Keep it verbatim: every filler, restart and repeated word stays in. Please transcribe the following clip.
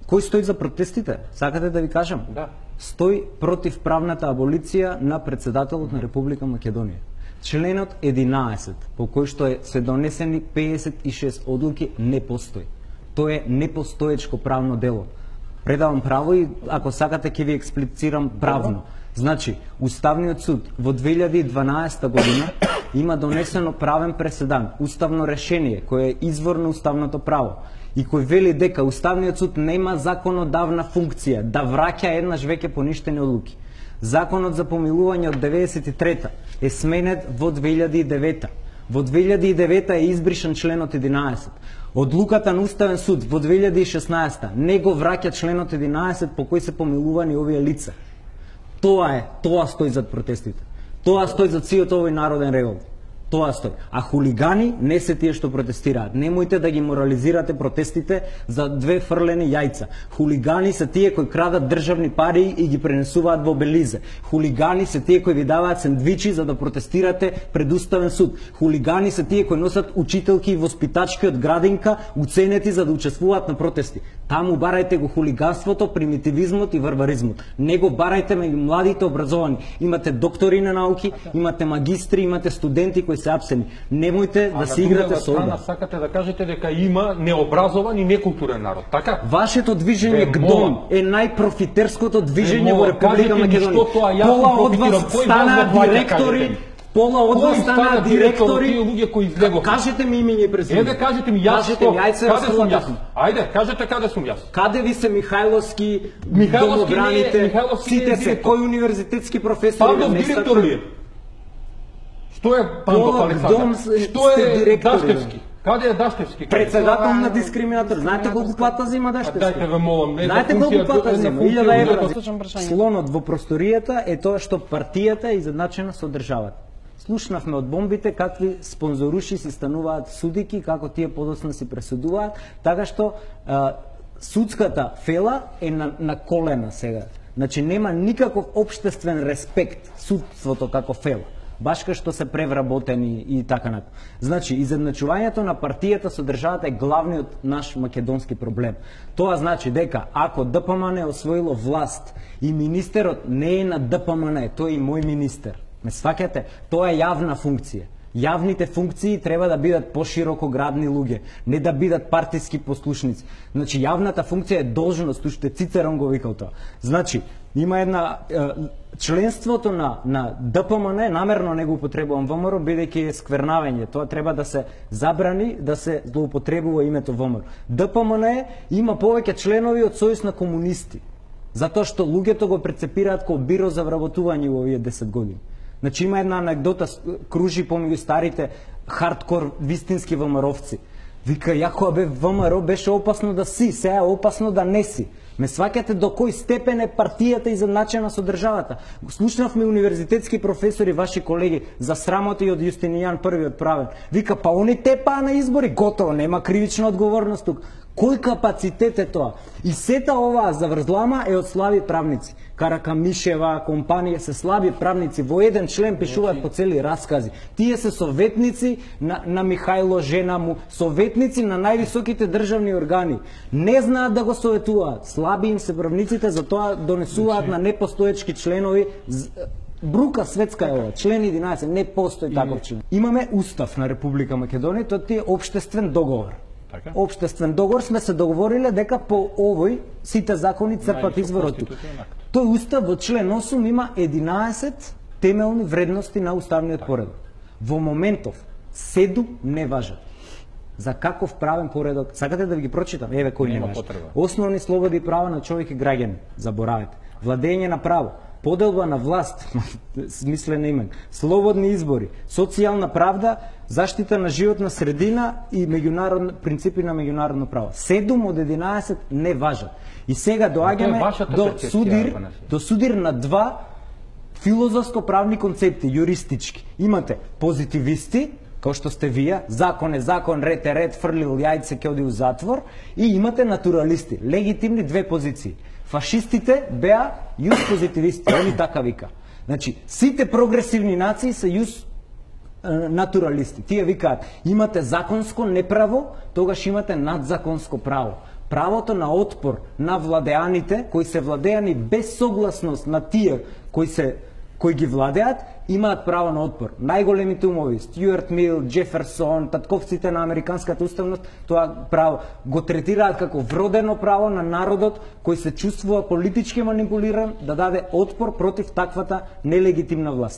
Кој стои за протестите? Сакате да ви кажам? Да. Стои против правната аболиција на председателот на Република Македонија. Членот единаесет, по кој што е се донесени педесет и шест одлуки, не постои. Тоа е непостоечко правно дело. Предавам право и ако сакате ќе ви експлицирам правно. Значи, Уставниот суд во две илјади и дванаесета година има донесено правен преседан, уставно решение кое е извор на уставното право и кој вели дека Уставниот суд нема законодавна функција да враќа еднаш веќе поништени одлуки. Законот за помилување од деветдесет и трета е сменет во две илјади и девета. Во две илјади и девета е избришан членот единаесет. Одлуката на Уставен суд во две илјади и шеснаесета не го враќа членот единаесет по кој се помилувани овие лица. Тоа е, тоа стои зад протестите. Тоа стои зад сиот овој народен револт. Тоа стои. А хулигани не се тие што протестираат. Немојте да ги морализирате протестите за две фрлени јајца. Хулигани се тие кои крадат државни пари и ги пренесуваат во Белизе. Хулигани се тие кои ви даваат сендвичи за да протестирате пред Уставен суд. Хулигани се тие кои носат учителки и воспитачки од градинка уценети за да учествуваат на протести. Таму барајте го хулиганството, примитивизмот и варваризмот. Не го барајте меѓу младите образовани. Имате доктори на науки, имате магистри, имате студенти кои се апсени. Немојте да се играте со ова. Сакате да кажете дека има необразован и некултурен народ, така? Вашето движење ГДОМ е најпрофитерското движење во Република Македонија. Пола од вас стана директори, Пола од вас стана директори, луѓе кои излегоа. Кажете ми име и презиме. Еве кажете ми јас што, каде сум јас? Ајде, кажете каде сум јас. Каде ви се Михајловски, Михајловски домобраните, сите се кој универзитетски професори? Павлов директор ли е? Што е Пандов Александар? Што е Даштевски? Каде е Даштевски? Председател на дискриминатор. Знаете колку плата зима Даштевски? Дайте ве молам, не. Знаете колку плата зима? илјада евра. Слонот во просторијата е тоа што партијата е изедначена со државата. Слушнавме од бомбите какви спонзоруши си стануваат судики, како тие подоцна си пресудуваат, така што а, судската фела е на, на колена сега. Значи нема никаков општествен респект судството како фела. Баш кај што се превработени и така натаму. Значи, изедначувањето на партијата со државата е главниот наш македонски проблем. Тоа значи дека ако ДПМН освоило власт и министерот не е на ДПМН, тој е и мој министер. Ме сваќате? Тоа е јавна функција. Јавните функции треба да бидат пошироко градни луѓе, не да бидат партиски послушници. Значи, јавната функција е должност, уште Цицерон го викал тоа. Значи, има една е, членството на на ДПМН, намерно не го употребувам ВМРО, бидејќи е сквернавање. Тоа треба да се забрани, да се злоупотребува името ВМРО. ДПМН има повеќе членови од Сојуз на комунисти, затоа што луѓето го прецепираат како биро за вработување во овие десет години. Значи има една анегдота кружи помеѓу старите хардкор вистински ВМРО-вци. Вика, јако бе ВМРО беше опасно да си, сега е опасно да не си. Ме сваќате до кој степен е партијата изедначена со државата. Слушнавме универзитетски професори, ваши колеги, за срамота и од Јустинијан први отправен. Вика, па они тепаа на избори, готово, нема кривична одговорност тук. Кој капацитет е тоа? И сета оваа заврзлама е од слаби правници. Каракамишева, компанија се слаби правници, во еден член пишуваат по цели раскази. Тие се советници на, на Михајло, жена му, советници на највисоките државни органи. Не знаат да го советуваат. Слаби им се правниците, затоа донесуваат на непостоечки членови. Брука светска е ова. Член единаесет, не постои таков член. Имаме устав на Република Македонија, тоа е општествен договор. Така? Општествен договор сме се договориле дека по овој сите закони црпат извор од тук. Тој устав во член осум има единаесет темелни вредности на уставниот поредок. Во моментов седум не важат. За каков правен поредок? Сакате да ви ги прочитам? Еве кој не важат. Основни слободи и права на човек и граѓани. Заборавете. Владење на право, поделба на власт, смислен имен, слободни избори, социјална правда, заштита на животна средина и меѓународни принципи на меѓународно право. седум од единаесет не важат. И сега доаѓаме до судир, до судир на два филозофско-правни концепти, юристички. Имате позитивисти, како што сте вие, закон е закон, ред е ред, фрлил јајце ќе оди у затвор, и имате натуралисти, легитимни две позиции. Фашистите беа јус позитивисти, они така вика. Значи, сите прогресивни нации се јус натуралисти. Тие викаат, имате законско неправо, тогаш имате надзаконско право. Правото на отпор на владеаните, кои се владеани без согласност на тие кои се кои ги владеат, имаат право на отпор. Најголемите умови, Стюарт Мил, Джеферсон, татковците на американската уставност, тоа право го третираат како вродено право на народот кој се чувствува политички манипулиран да даде отпор против таквата нелегитимна власт.